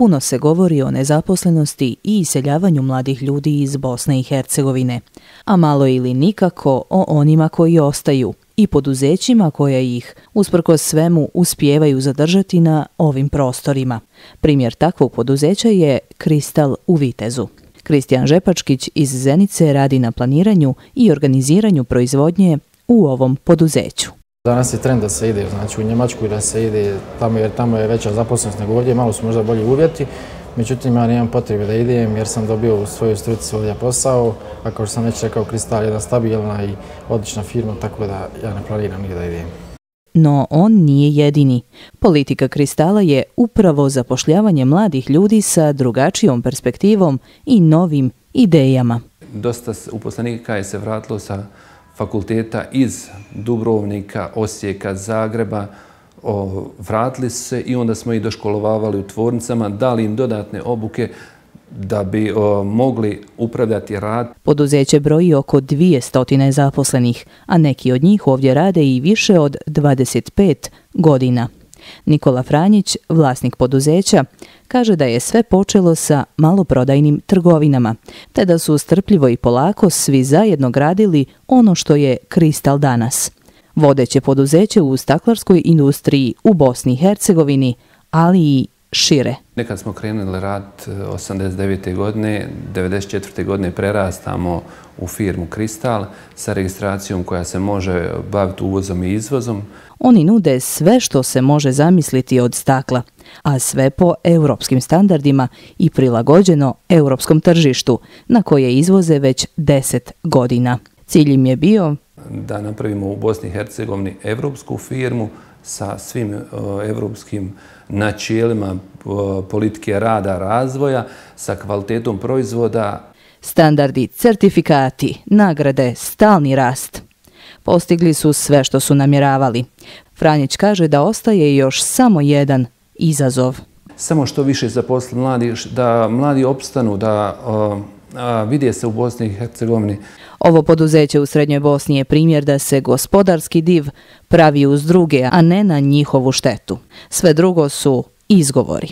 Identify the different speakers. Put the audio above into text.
Speaker 1: puno se govori o nezaposlenosti i iseljavanju mladih ljudi iz Bosne i Hercegovine, a malo ili nikako o onima koji ostaju i poduzećima koja ih, usprkos svemu, uspijevaju zadržati na ovim prostorima. Primjer takvog poduzeća je Kristal u Vitezu. Kristijan Žepačkić iz Zenice radi na planiranju i organiziranju proizvodnje u ovom poduzeću.
Speaker 2: Danas je trend da se ide, znači u Njemačku da se ide tamo jer tamo je veća zaposlenost nego ovdje, malo su možda bolji uvjeti. Međutim, ja nemam potrebe da idem jer sam dobio u svojoj struci ovdje posao, a kao što sam već rekao, Kristal je jedna stabilna i odlična firma, tako da ja ne planiram nigdje da idem.
Speaker 1: No on nije jedini. Politika Kristala je upravo zapošljavanje mladih ljudi sa drugačijom perspektivom i novim idejama.
Speaker 3: Dosta uposlenika je se vratilo sa fakulteta iz Dubrovnika, Osijeka, Zagreba, vratili su se i onda smo ih doškolovavali u tvornicama, dali im dodatne obuke da bi mogli upravljati rad.
Speaker 1: Poduzeće broji oko 200 zaposlenih, a neki od njih ovdje rade i više od 25 godina. Nikola Franjić, vlasnik poduzeća, kaže da je sve počelo sa maloprodajnim trgovinama, te da su strpljivo i polako svi zajedno gradili ono što je Kristal danas. Vodeće poduzeće u staklarskoj industriji u Bosni i Hercegovini, ali i šire.
Speaker 3: Nekad smo krenuli rad 89. godine, 94. godine prerastamo u firmu Kristal sa registracijom koja se može baviti uvozom i izvozom.
Speaker 1: Oni nude sve što se može zamisliti od stakla, a sve po europskim standardima i prilagođeno europskom tržištu, na koje izvoze već 10 godina. Cilj im je bio
Speaker 3: da napravimo u Bosni i Hercegovini evropsku firmu sa svim evropskim načelima politike rada, razvoja, sa kvalitetom proizvoda.
Speaker 1: Standardi, certifikati, nagrade, stalni rast. Postigli su sve što su namjeravali. Franjić kaže da ostaje još samo jedan izazov.
Speaker 3: Samo što više zaposli mladi, da mladi opstanu, da vide se u Bosni i Hercegovini.
Speaker 1: Ovo poduzeće u Srednjoj Bosni je primjer da se gospodarski div pravi uz druge, a ne na njihovu štetu. Sve drugo su izgovori.